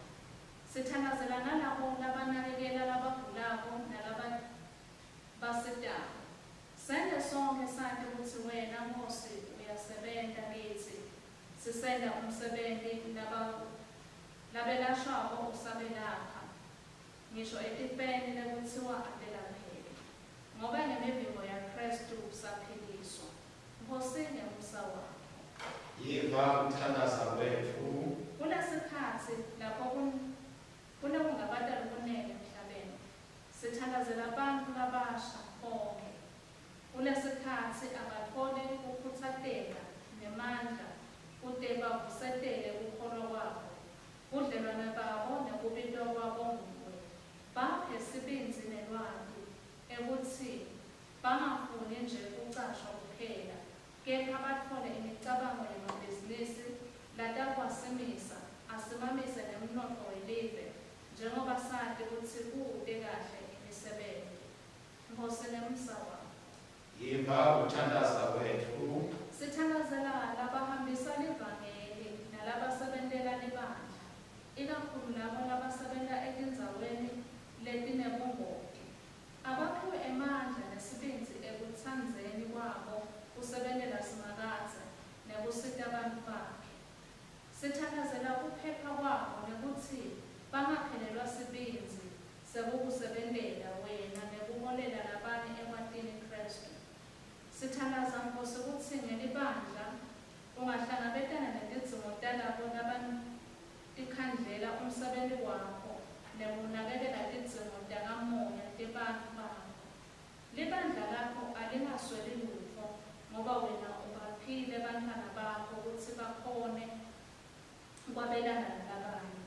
Sithandazela nalabo labanakekela labagulako nalababasitako. Sente sonkhe sati kutsi wena Nkhosi uyasebenta kitsi, sisenta umsebenti labelashwako usabelapha, ngisho etifeni lekutsiwa atelapheki. Ngobe ngemivimbo yaKhristu saphiliswa. Nkhosi ngemusa wakho. Yiva kuthandaza kwetfu. Kulesikhatsi lapho kunekungabata lokunengi emhlabeni, sithandazela bantfu labasha bonkhe. Kulesikhatsi abatfole kukhutsateka nemandla kute bavusetele kukholwa kwabo, budlelwane babo nekubitwa kwabo nguwe. Baphe sibindzi nelwati ekutsi bangafuni nje kucashwa kuphela, kepha batfole imicabango yemabhizinisi latawasimisa asimamise nemnotfo welive njengoba sati kutsi kute kahle imisebenti. Nkhosi ngemusa wakho. Yiva kuthandaza kwetfu. Sithandazela labahambisa livangeli nalabasebentela libandla, ikakhulu labo labasebenta etindzaweni letinebungoti. Abaphiwe emandla nesibindzi ekutsandzeni kwabo kusebentela Simakadze nekusita bantfu bakhe. Sithandazela kuphepha kwabo nekutsi bangaphelelwa sibindzi sekukusebentela wena nekuholela labanye ekwatini Khristu. Sithandaza Nkhosi kutsi ngelibandla ungahlangabetana netidzingo talabo labatikhandlela umsebenti wakho nekunakekela tidzingo takamoya tebantfu bakho. Libandla lakho alingasweli lutfo ngoba wena ubaphile bantfwana bakho kutsi bakhone kwabelana nalabanye.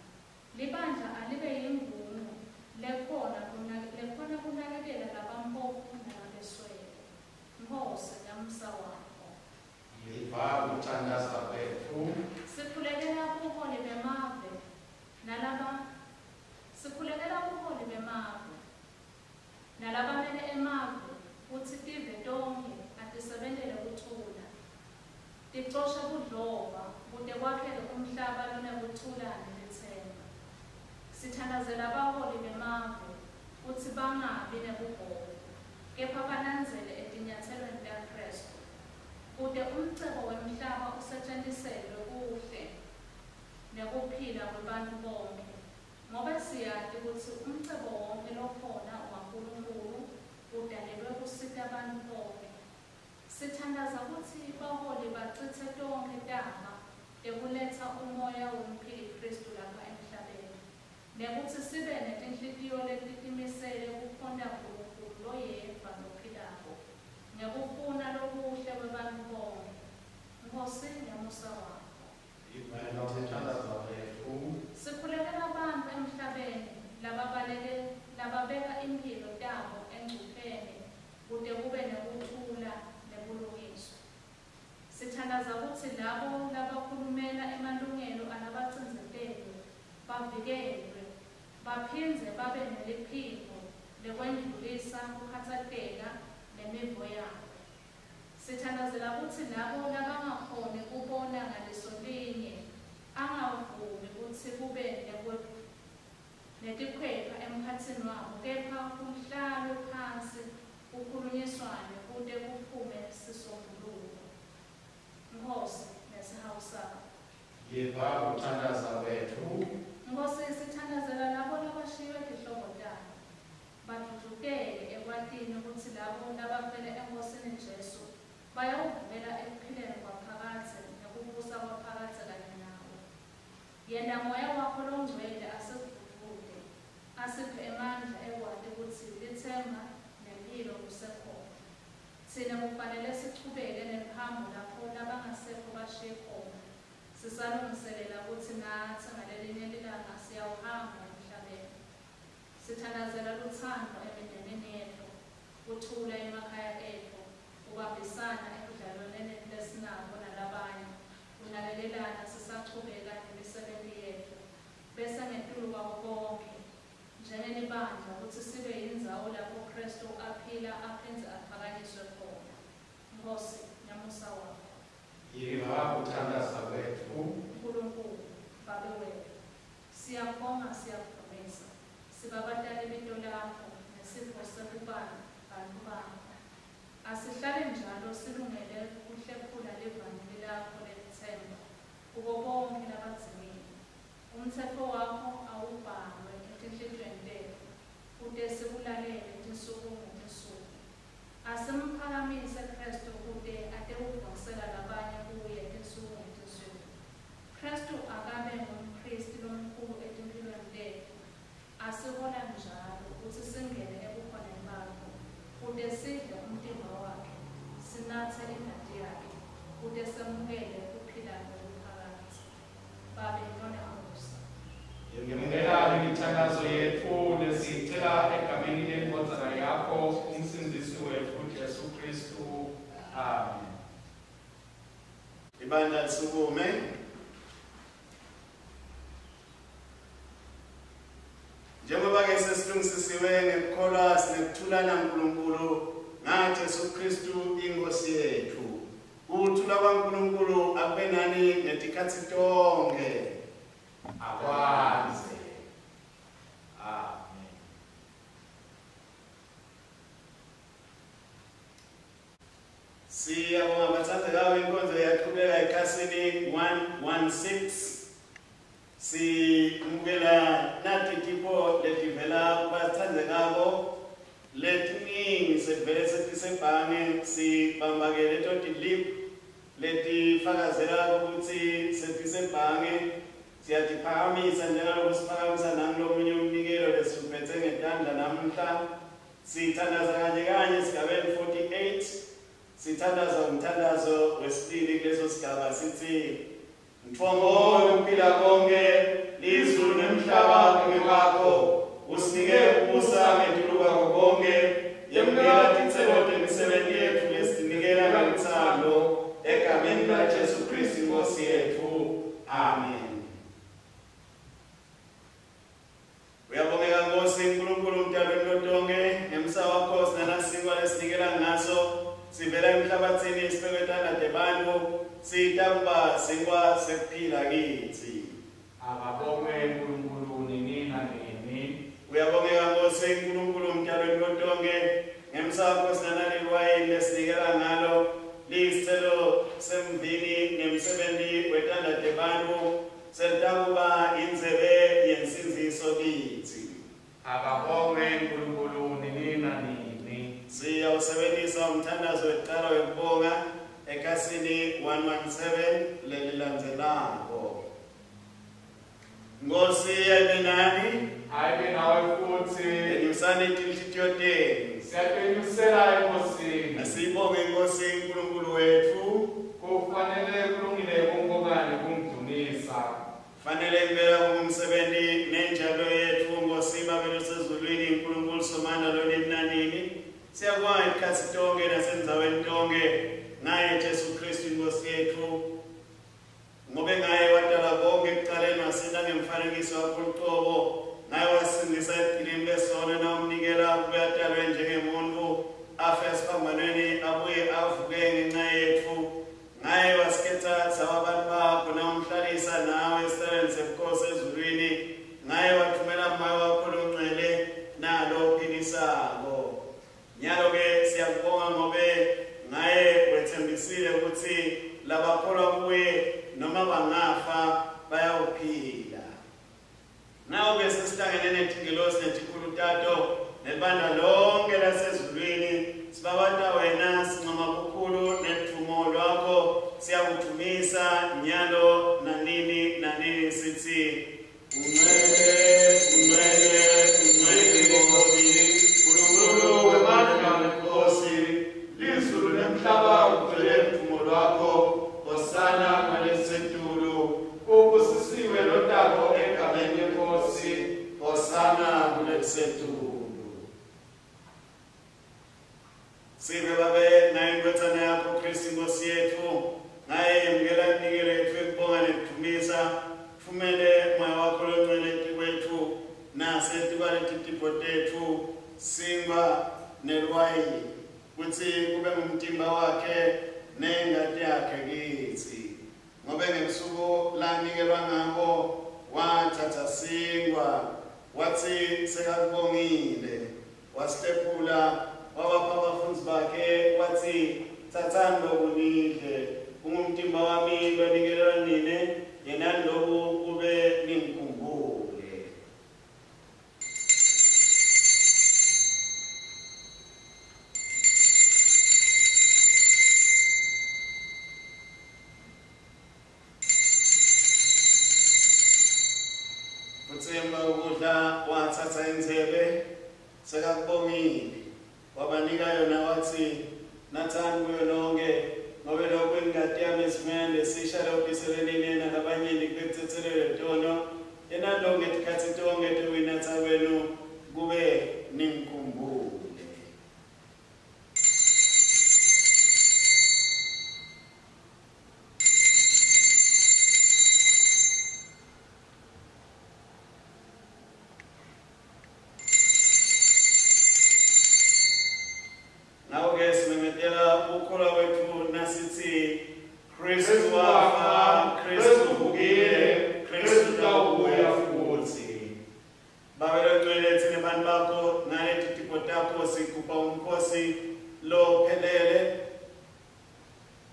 Libandla alibe yingungu lekhona kunakekela labamphofu nalabeswele. Nkhosi ngemusa wakho. Yiva kuthandaza kwetfu. Sikhulekela buholi bemave sikhulekela buholi bemave nalabamele emave kutsi tive tonkhe atisebentele kuthula, ticoshe budlova kute kwakheke umhlaba lonekuthula nelitsemba. Sithandazela baholi bemave kutsi bangabi nebugovu, kepha balandzele etinyatselweni taKhristu, kute umcebo wemhlaba usetjentiselwe kuhle nekuphila kwebantfu bonkhe. Ngobe siyati kutsi umcebo wonkhe lokhona waNkulunkulu udalelwe kusita bantfu bonkhe. Sithandaza kutsi baholi bacitse tonkhe taba tekuletsa umoya womphili Khristu lapha emhlabeni, nekutsi sibe netinhlitiyo letitimisele kukhonta Nkulunkulu loyedvwa lophilako ngekufuna lokuhle kwebantfu bonkhe. Nkhosi ngemusa wakho. Yiva kuthandaza kwetfu. Sikhulekela bantfu emhlabeni lababeka imphilo tabo engcupheni kute kube nekuthula nebulungiswa. Sithandaza kutsi labo labakhulumela emalungelo alabacindzetelwe bavikelwe, baphindze babe neliphimbo lekwendlulisa kukhatsateka nemivo yabo. Sithandazela kutsi labo labangakhoni kubona ngaliso linye angavumi kutsi kube netikhwepha emkhatsini wabo, kepha kuhlalwe phansi kukhulunyiswane kute kuphume sisombululo. Nkhosi nesihawu sakho. Yiva kuthandaza kwetfu. Nkhosi sithandazela labo labashiywe tihlobo tabo, badvudvuteke ekwatini kutsi labo labafele eNkhosini Jesu bayawuvukela ekuphileni kwaphakadze nekubusa kwaphakadze kanye nawe. Yenta moya wakho longcwele asidvudvute, asiphe emandla ekwati kutsi litsemba nemphilo kusekhona. Tsine kufanele sichubeke neluhambo lapho labangasekho bashiye khona, sisalungiselela kutsi natsi ngalelinye lilanga siyawuhamba emhlabeni. Sithandazela lutsandvo emindenini yetfu, kuthula emakhaya etfu, kubambisana. ebudlelwaneni lesinabo nalabanye, kunakekelana sisachubeka nemisebenti yetfu, bese ngetulu kwako konkhe, njengelibandla kutsi sibe yindzawo lapho Khristu aphila aphindze aphakanyiswe khona. Nkhosi, ngemusa wakho. Yiva kuthandaza kwetfu. Nkulunkulu, Babe wetfu, siyakubonga siyakudvumisa. Sibabata libito lakho nesipho sekuba bantfu bakho. Asihlale njalo silungele kuhlephula livangeli lakho lelitsemba kubo bonkhe labadzingile. Umtsetfo wakho awubhalwe etinhlitiyweni tetfu kute sikulalele tinsuku ngetinsuku. Asimphakamise Khristu kute atewudvonsela labanye kuye tinsuku ngetinsuku. Khristu akabe ngumphristi lomkhulu etimphilweni tetfu, asihola njalo kutsi singene ebukhoneni bakho, kute sidle umtimba wakhe, sinatse ingati yakhe, kute semukele kuphila lokuphakadze. Babe lonemusa. Yemukela imithandazo yetfu lesiyicela egameni lendvodzana yakho umsindzisi wetfu Jesu Khristu. Amen. Ibandla lisukume. Njengoba ke sesilungisisiwe ngekukholwa sinekuthula naNkulunkulu ngaJesu Kristu inkosi yetfu. Ukuthula kwaNkulunkulu akube nani ngetikhatsi tonkhe. Akwandze. Amen. Siyabonga bathandekayo, inkonzo iyaqhubeka ekhasini 116. Simukela nati tipho letivela kubathandekako letiningi sevele setisebhange, sibambake leto tilip letifakazela ukuthi setisebhange. Siyatiphakamisa njengaloku siphakamisa nangulomunye umnikelo lesiphethe ngetandla namuhla. Sithandaza kanye kanye esigabeni 48. Sithandaza umthandazo wesibili kuleso sigaba, sithi: Mthombo wokuphila konke, lizulu nemhlaba kungewakho, usinike ukubusa ngetulu kwakho konke. Yemukela titselo temisebenti yetfu lesitinikela ngeluthando, egameni laJesu Kristu inkosi yetfu. Amen. Uyabongeka Nkosi Nkulunkulu mdalweni lotonke, ngemsa wakho sinanasinkwa lesinikela ngaso, sivela emhlabatsini sibekwe tandla tebantfu, sitakuba sinkwa sekuphila kitsi. Akabongwe uNkulunkulu nini nanini. Uyabongeka Nkosi Nkulunkulu mdalweni lotonke, ngemsa wakho sinanaliwayini lesinikela ngalo, liyisithelo semvini ngemsebenti wetandla tebantfu, selitakuba indzebe yensindziso kitsi. Akabongwe uNkulunkulu nini nanini. Siyawusebentisa umthandazo wekuqala wekubonga ekhasini 117 lelilandzelako. Nkosi ayibe nani. Ayibe nawe futhi. Enyusani tinhlitiyo tenu. Siyatenyusela eNkosini. Asibonge Inkosi uNkulunkulu wetfu. Kufanele kulungile kumbonga nekumdumisa. Fanele impela kungumsebenti nenjalo yetfu Nkosi Babe losezulwini, uNkulunkulu Somandla lonini nanini. Siyakubonga isikhatsi tonke nasendzaweni tonke ngaye Jesu Kristu inkosi yetfu. Ngobe ngaye wadala konke ekucaleni, wasenta ngemfanekiso wakho lucobo, ngaye wasindisa ebugqilini besono nawumnikela kube atalwe njengemuntfu, afe esiphambanweni abuye avuke ngenxa yetfu. Ngaye wasikhetha saba bantu bakho nawumhlalisa nawe esihlalweni sebukhosi ezulwini. Ngaye wathumela moya wakho longcwele nalo ophilisako. Nyalo-ke siyakubonga ngobe ngaye wetsembisile ukuthi labakholwa kuye noma bangafa bayawuphila. Nawe-ke sesihlangene netingelosi netikhulu tato nelibandla lonke lasezulwini, sibabata wena, sincoma bukhulu nedvumo lwakho, siyakudvumisa nyalo nanini nanini, sithi: Ungcwele, ungcwele, ungcwele Nkosi, Nkulunkulu wemandla nenkosi, lizulu nemhlaba kugcwele ludvumo lwakho. Hosana kwalesetulu, ubusisiwe lotako egameni lenkosi. Hosana kulelisetulu. Sive Babe nayo indvodzana yakho Kristu inkosi lakhe kitsi. Ngobe ngebusuku lanikelwa ngabo wathatha sinkwa, watsi sekakubongile, wasihlephula wabapha abafundzi bakhe, watsi tsatsani loku nidle, kungumtimba wami lonikelelwa nine, yenani loku kube ningikhumbule. Futsi emva kokudla wathatha indzebe, sekakubongile, wabanika yona, watsi natsani kuyo nonke, ngobe lokhu ingati yami esivumelwaneni lesisha lewubhiselwe nine nalabanyenti kube kutsetselelwe tono. Yenani lokhu ngetikhatsi tonkhe tekuyinatsa kwenu kube ningikhumbule. Ngako-ke simemetela ukukholwa kwetfu nasitsi Khristu wafa, Khristu uvukile, Khristu utawubuya futsi. Babe longcwele, tsine bantfu bakho ngaleti tipho takho sigubha umkhosi lophelele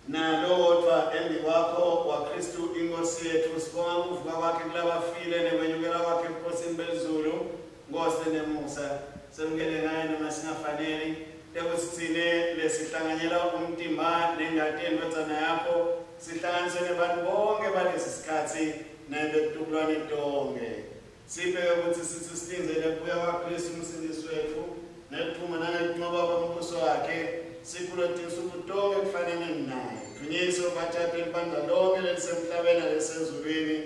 nalowodvwa embikwakho waKhristu iNkhosi yetfu. Sibonga kuvuka kwakhe kulabafile nekwenyukela kwakhe ebukhosini belizulu. Nkosi lenemusa, semukele ngaye noma singafaneli, tekutsi tsine lesihlanganyela umtimba nengati yendvodzana yakho sihlanganiswe nebantfu bonke balesi sikhatsi nebetitukulwane tonkhe. Siphe kutsi sitsi silindzele kubuya kwaKhristu umsindisi wetfu nekuphuma nangekuncoba kwembuso wakhe, sikhulwe tinsuku tonkhe kufanele naye. Dvunyiswe batjatwe libandla lonke lelisemhlabeni nalesezulwini,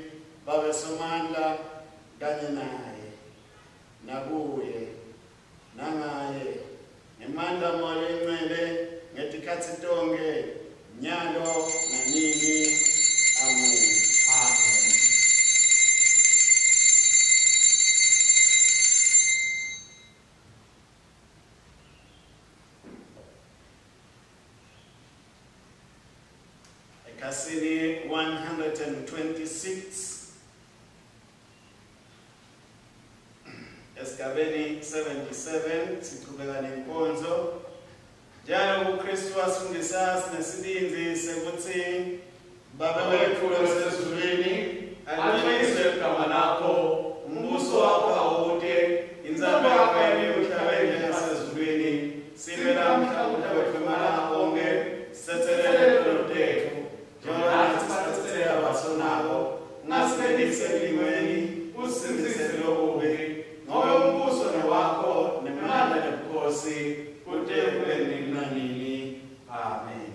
Babe Somandla kanye naye, nakuye, nangaye, ngemandla Moya Loyingcwele, ngetikhatsi tonkhe, nyalo nanini. Amen. Amen. Ekhasini 126 esigabeni 77 sichubeka nenkonzo. Njalo kuKristu wasifundisa sinesibindzi sekutsi Babe wetfu losezulwini, Alingcweliswe igama lakho, umbuso wakho awute, intsandvo yakho yentiwe emhlabeni njengasezulwini. Siphe lamuhla kudla kwetfu emalanga onkhe, sitsetselele tono tetfu, njengoba natsi sitsetselela labasonako. Ungasingenisi ekulingweni, usisindzise kulokubi, ngobe umbuso ngewakho, nemandla nebukhosi, kute kube nini nanini. Amen.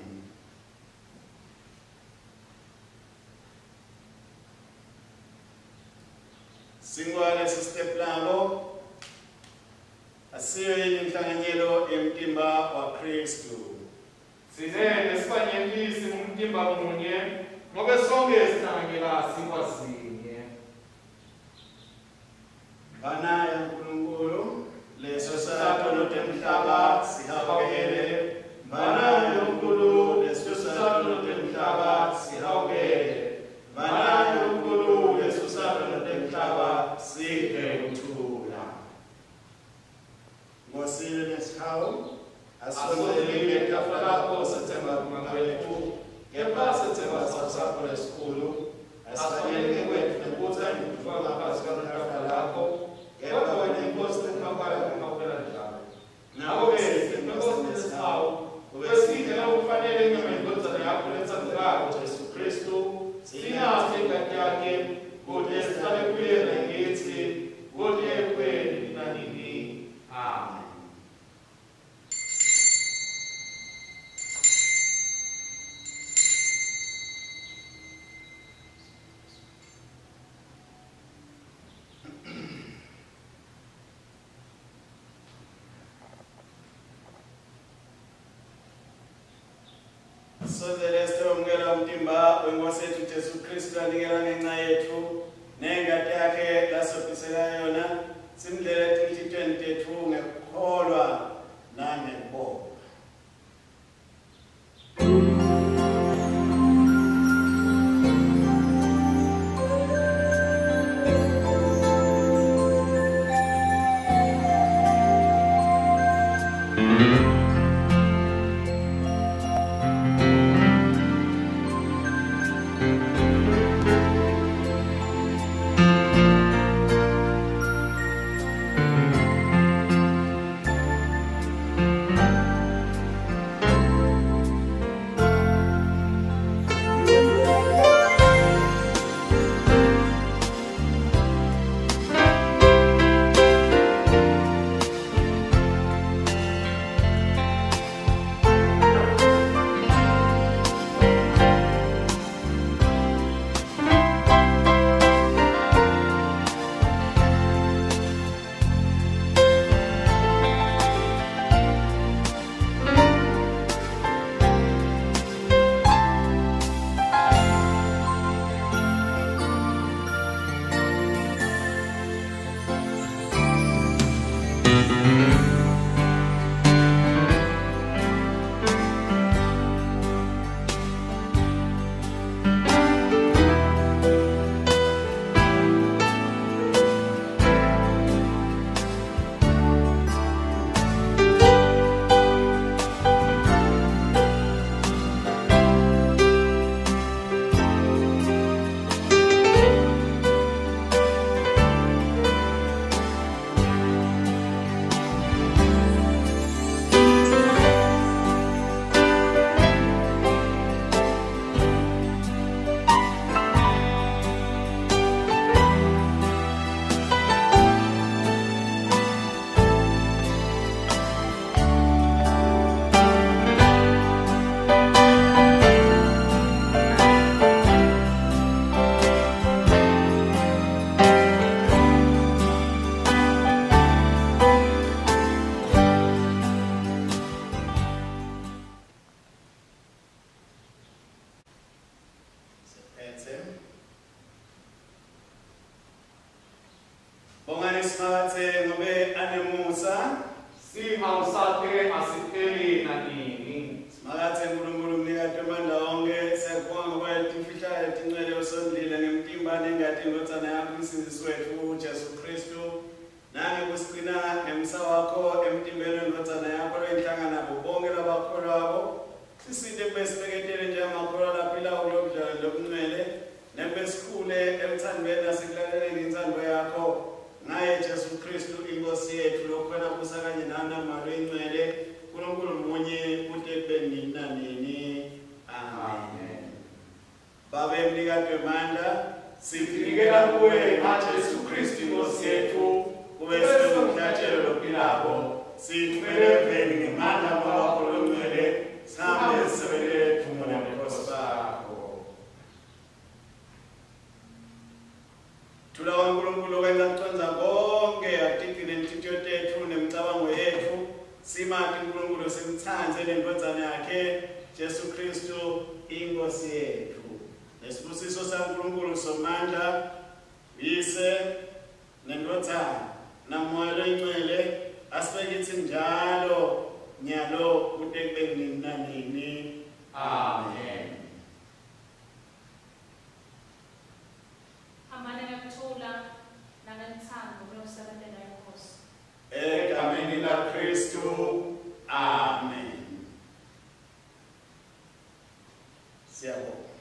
Sinkwa lesisiteplako asiyo yini inhlanganyelo yemtimba waKhristu? Tsine lesibanyenti singumtimba munye, ngobe sonkhe sihlanganyela sinkwa sinye. Mvana yaNkulunkulu, lesusa tono temhlaba, sihawukele. Mvana yaNkulunkulu, lesusa tono temhlaba, sihawukele. Mvana yaNkulunkulu, lesusa tono temhlaba, siphe kuthula. Nkosi lenesihawu, asondelile etafula lakho sethemba kulunga kwetfu, kepha sethemba sihawu sakho lesikhulu. Asifanele kwetfu nekutsi ngitfuka ngaphansi kwetafula lakho, kepha wena iNkosi lenkhawukela kunkhawukela njalo. Ngako-ke Nkosi lesihawu, kube sidle lokufanele inyama yendvodzana yakho letsandzekako Jesu Khristu, sinatse ingati yakhe, kute sihlale kuye nakitsi, kute kube nini nanini. Amen. Sondzele sitewamukela umtimba weNkosi yetfu Jesu Khristu lanikela ngenca yetfu, nengati yakhe lasophisela yona, simdlele etinhlitiyweni tetfu ngekukholwa nangekubonga. Bongani Simakadze ngobe anemusa. Sihawu sakhe asipheli nanini. Simakadze Nkulunkulu mnikati wemandla onkhe, siyakubonga ngoba timfihlakalo letincwele usondlile ngemtimba nengati yeNdvodzana yakho uMsindzisi wetfu Jesu Khristu. Nangekusigcina ngemsa wakho emtimbeni weNdvodzana yakho loyinhlangana nabo bonke labakholwako. Sisite kube sibeketele njengemakholwa laphilako kulobudlelwane lobuncwele, nekube sikhule emthandweni nasekulaleleni intsandvo yakho. Ngaye Jesu Khristu iNkosi yetfu lokhona busa kanye nawe naMoya loyiNgcwele, Nkulunkulu munye kute kube nini nanini. Amen. Babe mnikati wemandla, Sitinikela kuwe ngaJesu Kristu iNkosi yetfu, kube siwumhlatshelo lophilako, sithumele eveni ngemandla aMoya wakho loNgcwele, sihambe sisebentele dvumo nebukhosi bakho. Thula kwaNkulunkulu kwenta kucondza konke, atigcine inhlitiyo tetfu nemicabango yetfu, simati uNkulunkulu simtsandze neNdvodzana yakhe Jesu Khristu iNkosi yetfu. Nesibusiso saNkulunkulu Somandla, Uyise neNdvodzana naMoya loyiNgcwele asibe kitsi njalo nyalo kute kube nini nanini. Amen. Hambani ngekuthula nangelutsandvo kuyosebentela iNkhosi. Egameni laKhristu. Amen. Siyabonga.